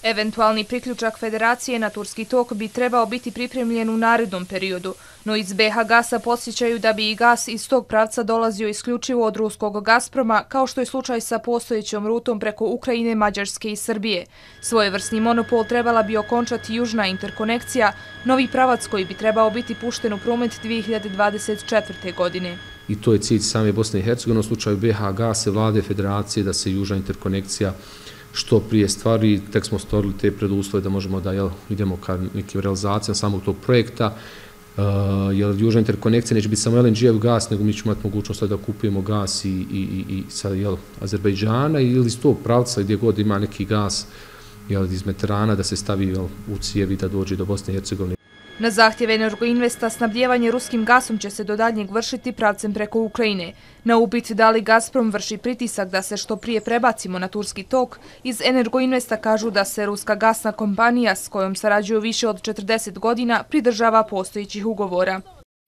Eventualni priključak Federacije na Turski tok bi trebao biti pripremljen u narednom periodu, no iz BH Gasa podsjećaju da bi i gas iz tog pravca dolazio isključivo od ruskog Gazproma, kao što je slučaj sa postojećom rutom preko Ukrajine, Mađarske i Srbije. Svojevrsni monopol trebala bi okončati južna interkonekcija, novi pravac koji bi trebao biti pušten u promet 2024. godine. I to je cilj same Bosne i Hercegovine, u slučaju BH Gasa, vlade Federacije, da se južna interkonekcija što prije stvari. Tek smo stvorili te preduslove da možemo da idemo ka nekim realizacijama samog tog projekta, jer južna interkonekcija neće biti samo LNG-ev gas, nego mi ćemo imati mogućnost da kupujemo gas i sa Azerbejdžana ili iz tog pravca gdje god ima neki gas iz Mediterana da se stavi u cijevi da dođe do Bosne i Hercegovine. Na zahtjev Energoinvesta snabdijevanje ruskim gasom će se do daljnjeg vršiti pravcem preko Ukrajine. Na upit da li Gazprom vrši pritisak da se što prije prebacimo na Turski tok, iz Energoinvesta kažu da se ruska gasna kompanija s kojom sarađuju više od 40 godina pridržava postojećih ugovora.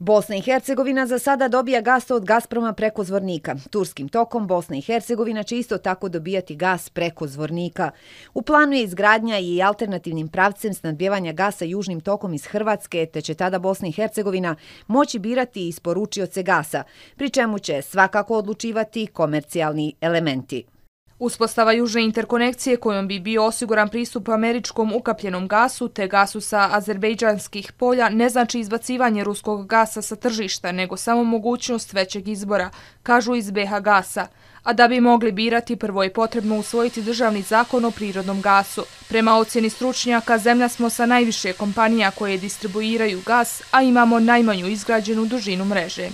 Bosna i Hercegovina za sada dobija gas od Gazproma preko Zvornika. Turskim tokom Bosna i Hercegovina će isto tako dobijati gas preko Zvornika. U planu je izgradnja i alternativnim pravcem snabdijevanja gasa južnim tokom iz Hrvatske, te će tada Bosna i Hercegovina moći birati isporučioce gasa, pri čemu će svakako odlučivati komercijalni elementi. Uspostava južne interkonekcije kojom bi bio osiguran pristup američkom ukapljenom gasu te gasu sa azerbejdžanskih polja ne znači izbacivanje ruskog gasa sa tržišta, nego samo mogućnost većeg izbora, kažu iz BH Gasa. A da bi mogli birati, prvo je potrebno usvojiti državni zakon o prirodnom gasu. Prema ocjeni stručnjaka, zemlja smo sa najviše kompanija koje distribuiraju gas, a imamo najmanju izgrađenu dužinu mreže.